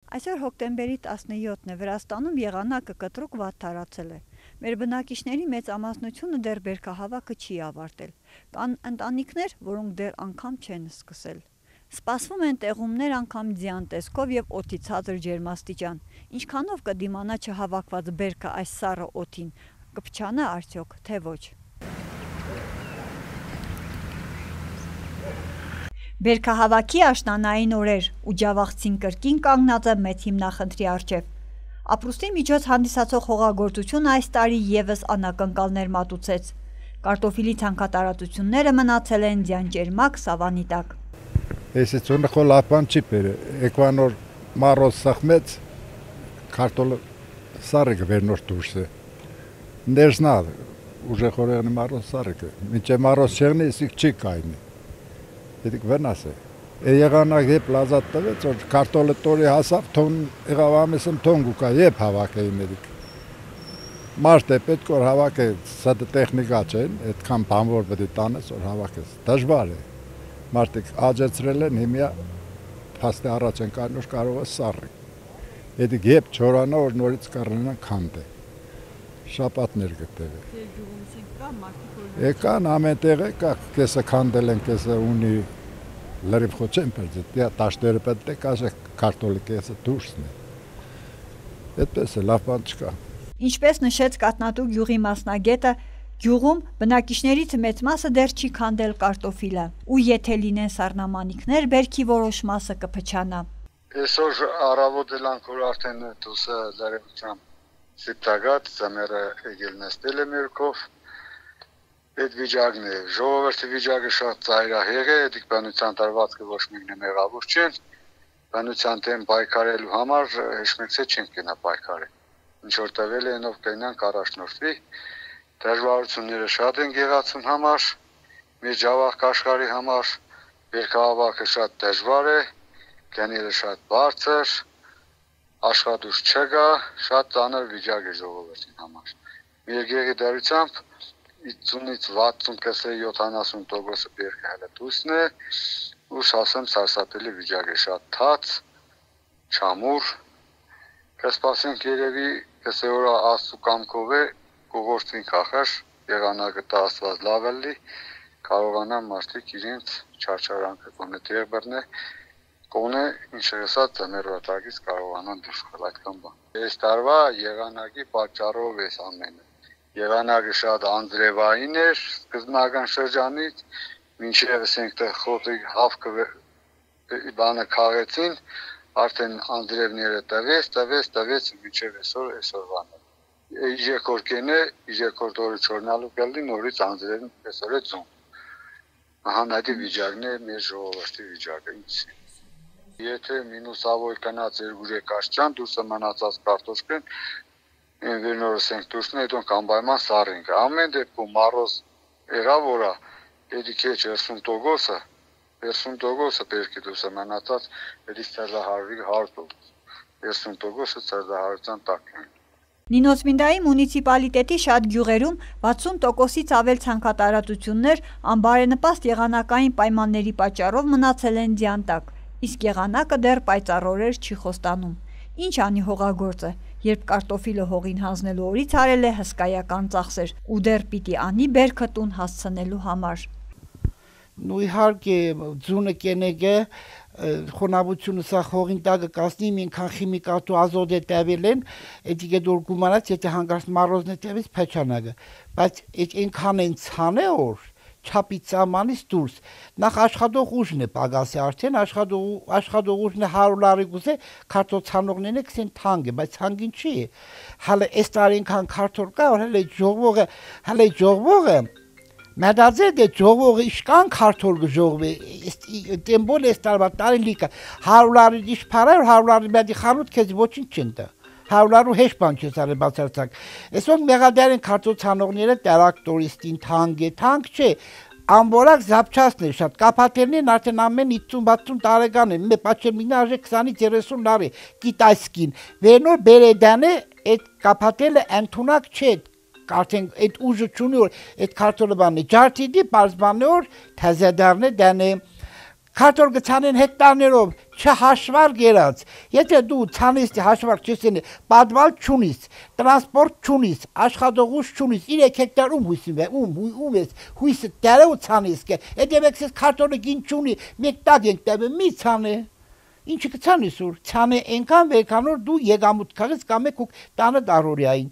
Այսօր հոկտեմբերի 17-ն է, Վրաստանում եղանակը կտրուկ վատ տարածել է։ Մեր բնակիչների մեծ ամասնությունը դեռ բերքահավաքը չի ավարտել։ Կան ընտանիքներ, որոնք դեռ անգամ չեն սկսել։ Սպասվում են տեղումներ անգամ ձյան տեսքով և օդի ցածր ջերմաստիճան։ Ինչքանով կդիմանա չհավաքված բերքը այս սառը օդին, կփչանա արդյոք, թե ոչ։ Բերքահավաքի աշնանային օրեր ու ջավախցին կրկին կանգնած է մեծ հիմնախնդրի առջև։ Ապրուստի միջոց հանդիսացող հողագործությունը այս տարի ևս անակնկալներ մատուցեց։ Կարտոֆիլի ցանքատարածությունները մնացել են ձյան-ճերմակ սավանի տակ։ Если холապան չի բերե, էկվանոր մարոս սախմեց, կարտոլ սարիկը վերնոր դուրս է։ Ներսնա, ուժե խորեղնի մարոս սարիկը, մինչե մարոս չեղնի, իսիկ չի կայնի։ Եդիկ վնաս է։ Եղանակ եբ լազատ տվեց, որ կարտոլը տորի հասավ, թոն եղավ ամեսում թոն գուկա, եբ հավակ էին էդիկ։ Մարդ է պետք որ հավակ է, սատը տեխնիկա չեն, այդքան բանվոր պետի տանես, որ հավակ ես, դժվար է։ Մարդիկ աջեցրել են, հիմյա պաստի առաջ են կարնոր կարող է սարրի։ Եդիկ եբ չորանա, որ նորից կարնան քանդ է։ Շապատներ գտև է։ Եկան ամեն տեղ է, կեսը քանդել են, կեսը ունի լրիվ խոչեն պերձետ, տաշտերը պետք է կաշը կարտոլի կեսը դուրսն է։ Այդպես է, լավ բան չկա։ Ինչպես նշեց Կատնատու գյուղի մասնագետը, գյուղում բնակիչներից մեծ մասը դեռ չի քանդել կարտոֆիլը, ու եթե լինեն սառնամանիքներ, բերքի որոշ մասը կփչանա։ Այսօր առավոտ էլանք որ արդեն դուսը լարևությամբ սիպտագատ, ծամերը եկել նստել է մերքով, այդ վիճակն է, ժողովրդի վիճակը շատ ծայրահեղ է, էդիկ բանության տարվածքը ոչ մեկն է մեղավոր չեն, բանության դեմ պայքարելու համար հեշմեքսե չենք կենա պայքարել, ինչ որ տվել է ենով կենանք առաջնորդվի, դժվարությունները շատ են գեղացուն համար, մեր ջավախ աշխարհի համար բերքահավաքը շատ դժվար է, գները շատ բարձր, աշխատուժ չկա, շատ ծանր վիճակ է ժողովրդի համար։ Մեր գեղի դարությամբ 50-ից 60 կեսե 70% բերքը հələ դուսն է, ու ասեմ սարսափելի վիճակ է, շատ թաց, չամուր, կսպասենք երևի կեսե օրա աստու կամքով է, կողորտվին կախար, եղանակը տաստված լավ էլի, կարողանան մարդիկ իրենց չարչարանքը կոնե տեղ բրնե, կոնե ինչ հեսած ծմերվատակից կարողանան դուրս խալ այդքան բան։ Այս տարվա եղանակի պատճառով էս ամենը։ Եղանակը շատ անձրևային էր սկզբնական շրջանից, մինչև ասենք խոտի հավքը բանը քաղեցին, արդեն անձրևները տվեց, մինչև այսօրվան է։ Երկորքեն է, երկորդ օրը չորնալու կլի նորից անձրևն այսօր է ձուն։ Հանադի վիճակն է մեր ժողովրդի վիճակը ինձ։ Եթե մինուսավոր կնած երկուրե կաշճան, դուրսը մնացած կարտոշկեն, վերնորս ենք դուրսն հետոն կամբայման սարինք։ Ամեն դեպքում մարոզ եղավ որա, էդի քեչ 30%-ը բերքի դուրսը մնացած, էդի ծրդահարվի 100%, 30%-ը ծրդահարության տակ են։ Նինոցմինդայի մունիցիպալիտետի շատ գյուղերում 60%-ից ավել ցանքատարածություններ անբարենպաստ եղանակային պայմանների պատճառով մնացել են ձյան տակ, իսկ եղանակը դեռ պայծառորեր չի խոստանում։ Ինչ անի հողագործը, երբ կարտոֆիլը հողին հանձնելու օրից արել է հսկայական ծախսեր ու դեռ պիտի անի բերքը տուն հասցնելու համար։ Նու իհարկե ձունը կենեգը խոնավությունը սա հողին տակը կասնի մինքան քիմիկատու ազոտ է տևել են, էդիկե դուր գումանած եթե հանգարց մարոզն է տևից փեչանագը, բայց այնքան են ցանե որ չափից սահմանից դուրս նախ աշխատող ուժն է պագասի արդեն աշխատող ուժն է 100 լարի գուզե քարտոցանողներն է քսեն թանկ է բայց թանկին չի հələ այս տարի այնքան քարտոր կա որ հələ ժողովողը Մադարձե դե ժողովը իշքան քարտոր գժողվի տեմբոլ է ստարվա տարին լիկա 100 լարի դիշ փարը 100 լարի բադի խանութ քեզ ոչինչ չընտա 100 լարու հեշ բան չես արել բացարձակ այսօր մեղադարին քարտոցանողները տրակտորիստին թանկ չէ Ամբորակ զապչասն է շատ կապատերներն արդեն ամեն 50-60 տարեկան են պաչել մինաժե 20-ից 30 լարի կիտայսկին վերնոր բերեդանը այդ կապատելը ընդունակ չէ Արդեն այդ ուժը չունի որ այդ քարտոլը բանը ջարդիդի բարձբանը որ թազադարն է դանը Քարտոլ գցանեն հեկտարներով չհաշվար գերած։ Եթե դու ցանես հաշվար չես, պատվալ չունիս, տրանսպորտ չունիս, աշխատողուց չունիս, 3 հեկտար ում ես հույսը դերը ու ցանես կե։ Եթե մեկս քարտոլը գին չունի, մեկ տակ ենք տebe մի ցանե։ Ինչի կցանես ուր, ցանե այնքան վերքանոր դու եկամուտ քաղես կամ եք տանը դարորյային։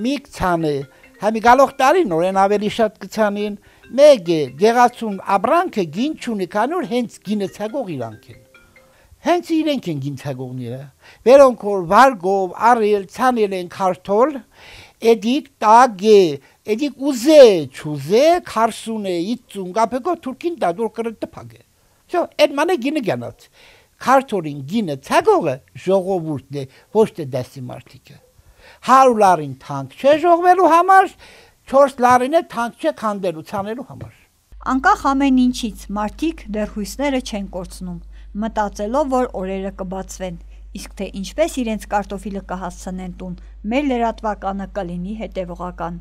Մի ցանե, համի գալող տարի նորեն ավելի շատ կցանին։ Մեկ է գեղացուն աբրանքը գին չունի, կանոր հենց գինեցագող իրանք են։ Հենց իրենք են գինցագողները։ Վերոնք որ վարգով, արել, ցանել են քարտոլ, էդիկ տագե, էդիկ ուզե, չուզե, քարսունե, 50 գապեկո թուրքին դա դուր կրը տփագե։ Շո, այդ մանե գինը գանած։ Քարտորին գինը ցագողը ժողովուրդն է, ոչ թե դասի մարդիկը։ 100 լարին թանկ չէ ժողվելու համար, 4 լարին է թանկ չէ քանդելու ցանելու համար։ Անկախ ամեն ինչից մարդիկ դեռ հույսները չեն կորցնում, մտածելով, որ օրերը կբացվեն, իսկ թե ինչպես իրենց կարտոֆիլը կհասցնեն տուն, մեր լրատվականը կլինի հետևողական։